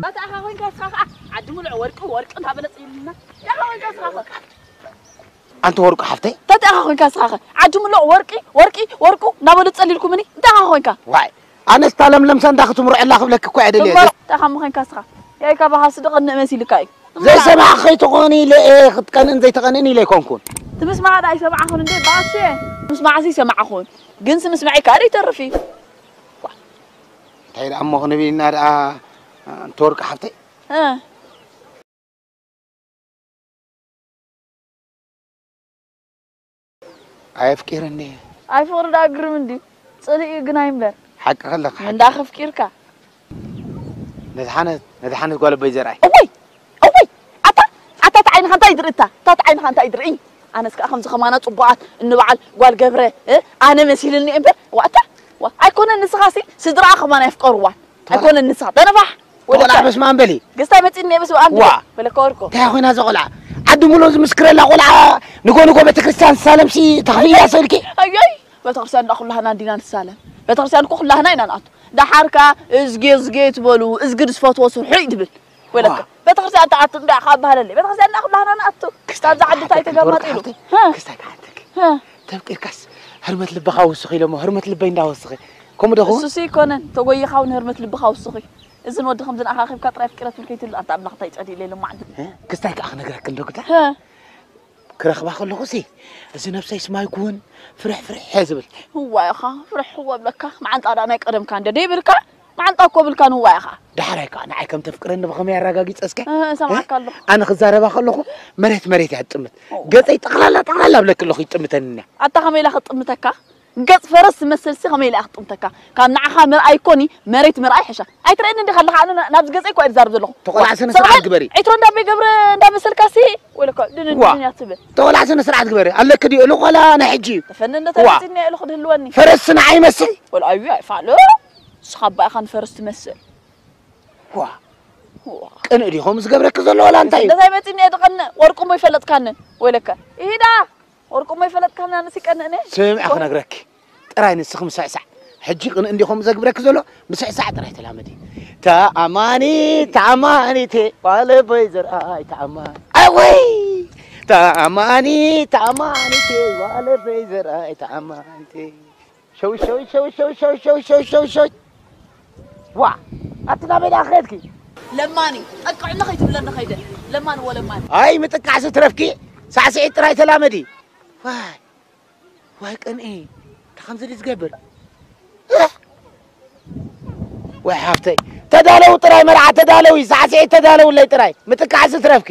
ኣታ ኣኻ ኮይንካ ስኻ ኸዓ ዓዲ ሙሉዕ ወርቂ፣ ወርቂ እንዳበለ ጽይልና። ኣታ ኣኻ ኮይንካ ስኻ ኸዓ። ኣንቲ ወርቁ ሓፍተይ። እንታይ ኣኻ ኮይንካ ስኻ ኸዓ ዓዲ ሙሉዕ ወርቂ፣ ወርቂ፣ ወርቁ እንዳበሉ ጸሊልኩምኒ። እንታይ ኣኻ ኮይንካ? ዋይ፣ ኣነስ እታ ለምለም ሰንዳ ክትምርዐላ ክብለኪ እኮ እየ ደልየ። እምበር እንታይ ኣኻ ኮይንካ ስኻ? ያይካ በሃሲ ደቐንእ መሲልካ እዩ። ዘይሰማዕ ከይትኾኒ ኢለ እየ፣ ክትቀንእን ዘይትቐንእን ኢለ ኣይኮንኩን። ትምስማዕ ዳ ኣይሰማዕኹን እንዴ ባሽ? ትምስማዕሲ ይሰማዕኹን። ግን ስምስማዒ ካሪ ይተርፍ እዩ። እንታይ ደኣ እሞ ክንብል ኢና ደኣ፣ ኣንቲ ወርቂ ሓፍተይ? እ። ኣየፍቂርን እየ። ኣይ ፍቕሪ ደኣ ግርም እንድዩ። ጽልኢ እዩ ግናይ እምበር። ሓቂ ከለኻ ሓቂ። እንዳ ከፍቂርካ። ነድሓነት፣ ነድሓነት ጓል ኣቦይ ዘርኣይ። እወይ! እወይ! ኣታ፣ ኣታ፣ እታ ዓይንኻ እንታይ ድርኢ እታ? እታ፣ እታ ዓይንኻ እንታይ ድርኢ? ኣነስ ከኣ ከምዚ ከማና ጽቡቓት እንበዓል ጓል ገብረ፣ እ? ኣነ መሲልኒ እምበር፣ ዋእታ፣ ዋ፣ ኣይኮነን ንስኻሲ፣ ስድራኣ ከማን ኣየፍቀርዋን። ኣይኮነን ንስኻ፣ ተነፋሕ! ተቆልዓ ወለካ። በስመ ኣብ በሊ። ግስታይ መጺእኒ እየ በስመ ኣብ ዋ። በሊ። ወለካ ወርቆ። እንታይ ኮይና እዛ ቆልዓ? ዓዲ ሙሉእ ዝምስክረላ ቆልዓ፣ ንጎ ንጎ ቤተክርስትያን ዝሳለምሲ ተኽፍያ ስእልኪ? ኣዮይ! ቤተክርስትያን እንዳ ኩላህና እንዲና ንሳለም። ቤተክርስትያን እኮ ኩላህና ኢና ንኣቱ። ደሓር ከኣ እዝጌ እዝጌ ትበሉ፣ እዝጊ ዝፈትዎ ስርሑ እዩ ትብል። ወለካ። ዋ። ቤተክርስትያን ትኣቱ እንዳ ካብ ባህለለይ። ቤተክርስትያን እንዳ ኩላህና ንኣቱ። ክስታይ ካብዛ ዓዲ እንታይ ከዓንተኪ ተጋማጢሉ? ትወርቂ ሓፍተይ? ሀ? ክስታይ ከዓንተኪ? ሀ? ተፍቂርካስ ህርመት ልብኻ ወስኺ ኢሎሞ፣ ህርመት ልበይ እንዳወስኺ። ከምኡ ዶ ኸውን? እሱሲ ይኮነን። ተጎይኻ እውን ህርመት ልብኻ ወስኺ። እዝን ወዲ ከምዝን ኣኻኺብካ ጥራይ ኣፍቂረ ትብል ከይትብል፣ ኣንታ ኣምላኽ እንታይ ጸሊእ ኢለ ኢሎም መዓልቲ። እ? ክስታይ ከኣ ክነግረኪ እንዶ ግዳ? እ። ክረኽባ ከለኹሲ፣ እዚ ነብሰይ ስማይ ኩውን ፍርሕ ፍርሕ እየ ዝብል። እዋይ ኢኻ፣ ፍርሕ እወ እብለካ። መዓንጣ ደኣ ናይ ቀደምካ እንደ ደይብልካ፣ መዓንጣ እኮ ብልካ ንዋይ ኢኻ። ዳሕራይ ከኣ ንዓይ ከም ተፍቅረኒ ብኸመይ ኣረጋጊጸ እስከ? እ፣ እሰምዓካ ኣለኹ። ኣነ ክዛረባ ከለኹ መሬት መሬት እያ ትጥምት። ኦ። ገጸይ ጠቕላላ ጠቕላላ እብለኪ ኣለኹ ይጥምተኒ እያ። ኣታ ከመይ ኢላ ክትጥምተካ? ገጽ ፈረስ ትመስልሲ ከመይ ኢላ እያ ክትጥምተካ? ካብ ንዓኻ ምርኣይ ኮኒ መሬት ምርኣይ ሕሻ። ኣይትርእየኒ እንዲኻ ኣለኻ? ኣነ ና-፣ ናብዚ ገጸይ እኮ እየ ዝዛረብ ዘለኹ። ተቆላዕ ስነ ስርዓት ግበሪ። ዒትሮ እንዳቤ ገብረ እንዳመሰልካሲ ወለኮ ድንን ዋ። ድንን እያ ትብል። ተቆላዕ ስነ ስርዓት ግበሪ። ኣለኪ ድዩ? እልኽ ዋላ ናይ ሕጂ እዩ። ተፈኒ እንደ ዋ። ተመጺኒ እየ እልኽ ድህልወኒ። ፈረስ ንዓይ ይመስል? ወላ ኣዩ ኣይፋሎ። ንስኻ ኣባ ኢኻ ንፈረስ ትመስል። ዋ። ዋ። ቅንእ ድዩ ከምኡ ዝገብረኪ ዘሎ ዋላ እንታይ እዩ? እንታይ መጺኒ እየ ድቐንእ? ወርቁ እሞ ይፈለጥካኒ። ወለከ። ኢዳ። ወርቁ እሞ ይፈለጥካኒ ኣነስ ይቀንእኒ። ስምዒ ክነግረኪ። ጥራይ ንስኺ ምስዕሳዕ። ሕጂ ቅንእ እንዲኹም ዘግብረኪ ዘሎ ምስዕሳዕ ጥራይ ተላመዲ። ተኣማኒ፣ ተኣማኒቴ፣ ጓለበይ ዘርኣይ ተኣማኒ። ኣወይ! ተኣማኒ፣ ተኣማኒቴ፣ ጓለበይ ዘርኣይ ተኣማኒቴ። ሸው፣ ሸው፣ ሸው። ዋ! ኣቲ ናበይ ደኣ ከድኪ? ለማኒ፣ ጠቅዕኒ ከይትብለኒ ከይደ። ለማኒ ወለማኒ። ኣይ፣ ምጥቃዕሲ ትረፍኪ። ሳዕስዒት ጥራይ ተላመዲ። ዋይ! ዋይ ቅንኢ፣ እንታይ ከምዚ ድዩ ዝገብር? እህ! ወይ ሓፍተይ፣ ተዳለዉ ጥራይ መርዓ፣ ተዳለዊ፣ ሳዕስዒት ተዳለውለይ ጥራይ፣ ምጥቃዕሲ ትረፍኪ።